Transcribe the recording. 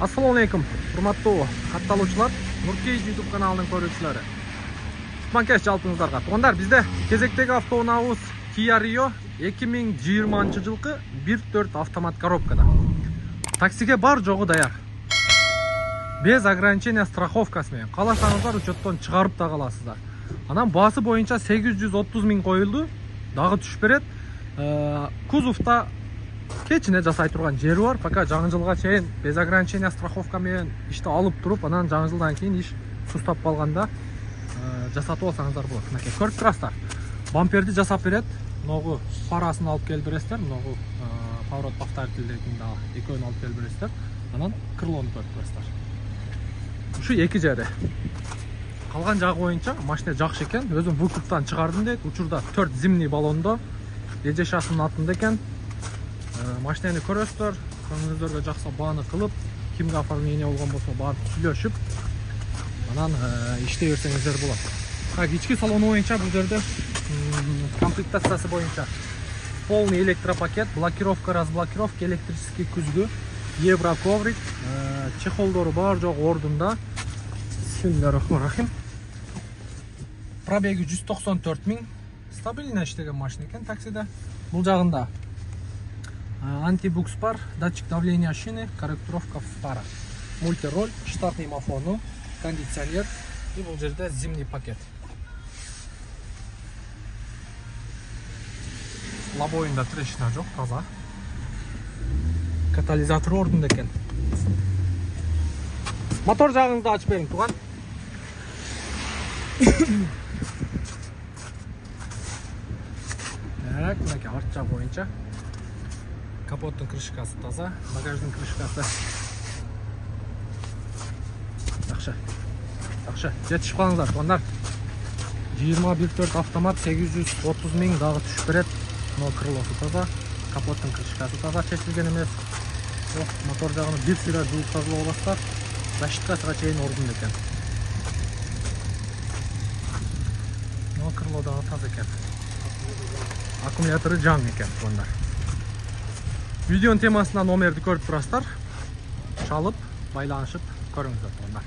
Assalomu alaykum, hurmatli катталуучулар, Nurkey YouTube kanalının көрүүчүлөрү. Кутман жалпыңыздарга. Туугандар, бизде кезектеги автоунаабыз Kia Rio 2020-жылкы 1.4 автомат коробкада. Таксиге бар жогу даяр. Без ограничения страховкасы менен. Кааласаңыздар учеттон чыгарып да каласыздар. Анан баасы боюнча 830 000 коюлду. Дагы түшүп берет. Кузовта кечине жасай турган жери бар. Пока жаңы жылга чейин без ограничения страховка менен ишти алып туруп, анан жаңы жылдан кийин иш сустап калганда жасатып алсаңыздар болот. Мынакей көрүп турасыздар. Бамперди жасап берет. Могу парасын алып келип бересиздер. Могу поворот повторительдегин да экөөнү алып келип бересиздер. Анан крылону көрүп турасыздар. Ушу эки жери. Калган жагы боюнча машина жакшы экен. Өзүм выкуптан чыгардым дейт. Учурда 4 зимний баллондо эжешасынын атында экен. Машинаны көрөсүздөр, көңүлүңүздөргө жакса бааны кылып, кимге оформление болгон болсо барып сүйлөшүп, анан иштей берсеңиздер болот. Так, ички салону боюнча бул жерде комплектациясы боюнча полный электропакет, блокировка, разблокировка, электрический күзгү, евроковрик, чехолдору бар жогу ордунда. Бисмиллахиррахманиррахим. Пробеги 194 000. Стабильно иштеген машина экен таксиде. Бул жагында антибукс бар, датчик давления шины, корректировка фара, мультироль, штатный мафону, кондиционер и бул жерде зимний пакет. Лобоюнда трещина жок, таза. Катализатор ордунда экен. Мотор жагыңызды ачып бериң, тууган. Так, мынакей арт жак боюнча капоттун крышкасы таза, багаждын крышкасы жакшы. Жакшы, жетишип калыңыздар, туугандар. 20.1.4 автомат 830 000 дагы түшүп берет. Мына крылосу таза, капоттун крышкасы таза, чечилген эмес. Мотор жагын бир сыйра жууп тазалап аласыздар. Защиткасына чейин ордунда экен. Мына крыло дагы таза экен. Аккумулятору жаңы экен, туугандар. Видеонун темасына номерди көрүп турасыздар. Чалып, байланышып көрүңүздөр, туугандар.